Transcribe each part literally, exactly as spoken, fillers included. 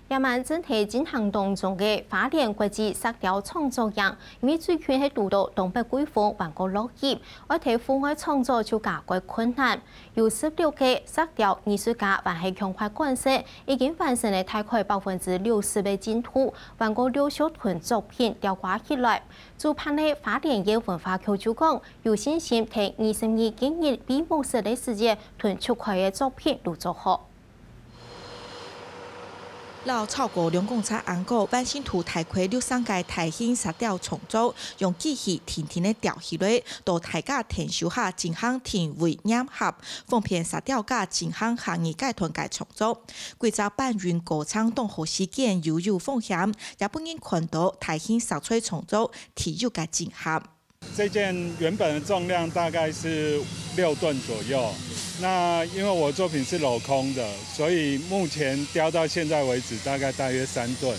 這滿正在進行當中个花蓮國際石雕創作營，因為最近係堵到東北季風，還過落雨，愛在戶外創作就加蓋困難。有十六個石雕藝術家還係強快趕工，已經完成了大概百分之六十个進度，還過六十多件作品吊掛起來。主辦个花蓮縣文化局就講，有信心在二十二今日閉幕式个時節，同出開个作品都做好。 摎超過兩公尺恁高、彎身度大概六十公分个大型石雕創作，用機器定定仔吊起來，到大家𢯭手下進行定位、黏合，方便石雕家進行下一階段个創作。規隻搬運過程當好時間又有風險，也分人看到大型石材創作特有个震撼。 这件原本的重量大概是六吨左右，那因为我作品是镂空的，所以目前雕到现在为止大概大约三吨。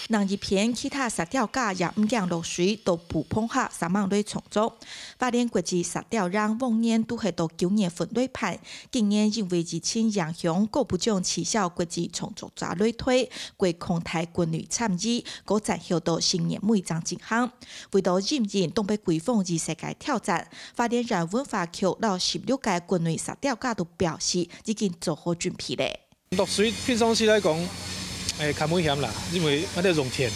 另一片，其他石雕家也毋驚落水，到布棚下煞猛來創作。花蓮國際石雕營往年都係到九月份來辦，今年因為疫情影響，各部長取消國際創作者來台，改擴大國內參與，過延後到新年尾正進行。 為著因應東北季風而設个挑戰，花蓮縣文化局摎十六個國內石雕家都表示已經做好準備咧。落水平常時來講，誒，較危險啦，因為𠊎兜用電，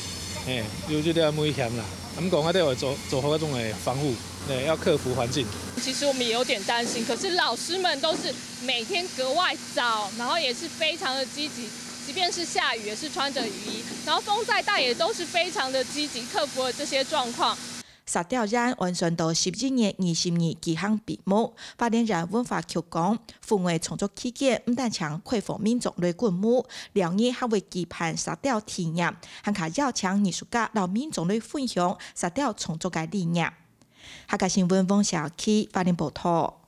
誒，有這個危險啦。毋過𠊎兜愛做做好該種誒防護，誒，要克服環境。其實我們也有點擔心，可是老師們都是每天格外早，然後也是非常的積極，即便是下雨也是穿著雨衣，然後風再大也都是非常的積極，克服了這些狀況。 石雕營按算到十一月二十日舉行閉幕。花蓮縣文化局講，戶外創作期間毋單淨開放民眾來觀摩，了日還會舉辦石雕體驗，還加邀請藝術家摎民眾來分享石雕創作个理念。客家新聞黃小琪，花蓮報導。